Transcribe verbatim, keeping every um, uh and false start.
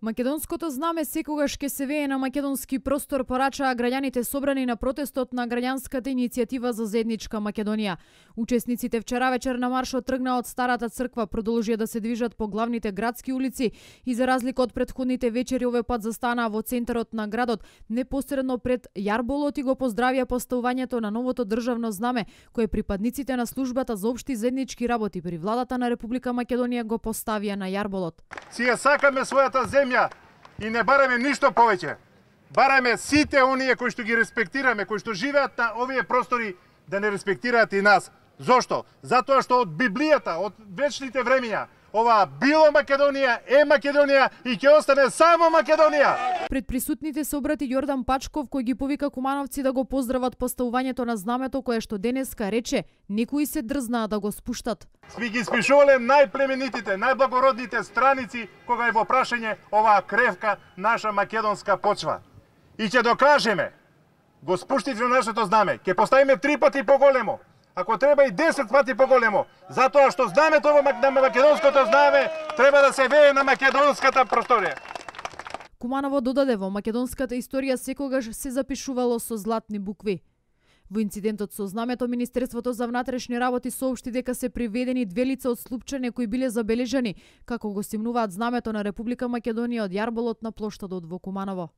Македонското знаме секогаш ќе се вее на македонски простор, порачаа граѓаните собрани на протестот на граѓанската иницијатива за заедничка Македонија. Учесниците вчера вечер на маршот тргнаа од Старата црква, продолжија да се движат по главните градски улици и за разлика од претходните вечери овој пат застанаа во центарот на градот, непосредно пред јарболот и го поздравија поставувањето на новото државно знаме, кое припадниците на службата за општи заеднички работи при владата на Република Македонија го поставија на јарболот. Си ја сакаме својата земја и не бараме ништо повеќе. Бараме сите оние кои што ги респектираме, кои што живеат на овие простори, да не респектираат и нас. Зошто? Затоа што од Библијата, од вечните времиња, ова било Македонија, е Македонија и ќе остане само Македонија. Пред присутните се обрати Јордан Пачков, кој ги повика кумановци да го поздрават поставувањето на знамето кое што денеска рече некои се дрзнаа да го спуштат. Сме ги спишувале најплеменитите, најблагородните страници кога е во прашање оваа кревка наша македонска почва. И ќе докажеме, го спуштите нашето знаме, ќе поставиме три пати поголемо, ако треба и десет пати поголемо, затоа што знамето на македонското знаме треба да се вее на македонската просторија. Куманово додаде, во македонската историја секогаш се запишувало со златни букви. Во инцидентот со знамето, Министерството за внатрешни работи соопшти дека се приведени две лица од Слупчане кои биле забележани како го стимнуваат знамето на Република Македонија од јарболот на плоштадот во Куманово.